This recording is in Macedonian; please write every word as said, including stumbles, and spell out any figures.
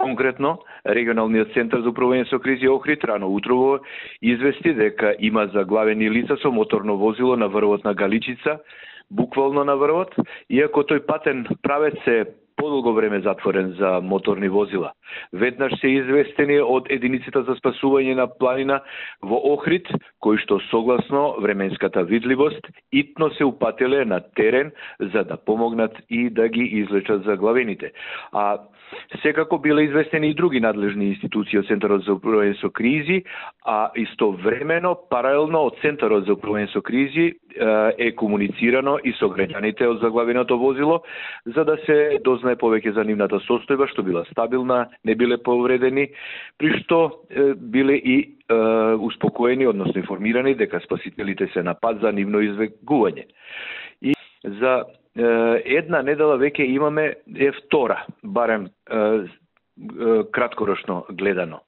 Конкретно, регионалниот центар за управување со кризи Охрид рано утрово извести дека има заглавени лица со моторно возило на врвот на Галичица, буквално на врвот, иако тој патен правец е подолго време затворен за моторни возила. Веднаш се известени од единицата за спасување на планина во Охрид, кои што согласно временската видливост итно се упателе на терен за да помогнат и да ги излечат заглавените. А секако биле известени и други надлежни институции од Центарот за управување со кризи, а истовремено паралелно од Центарот за управување со кризи е комуницирано и со граѓаните од заглавеното возило за да се дознае повеќе за нивната состојба, што била стабилна, не биле повредени, при што е, биле и е, успокоени, односно информирани дека спасителите се на пат за нивно извегување. И за е, една недела веќе имаме е втора, барем е, е, краткорочно гледано.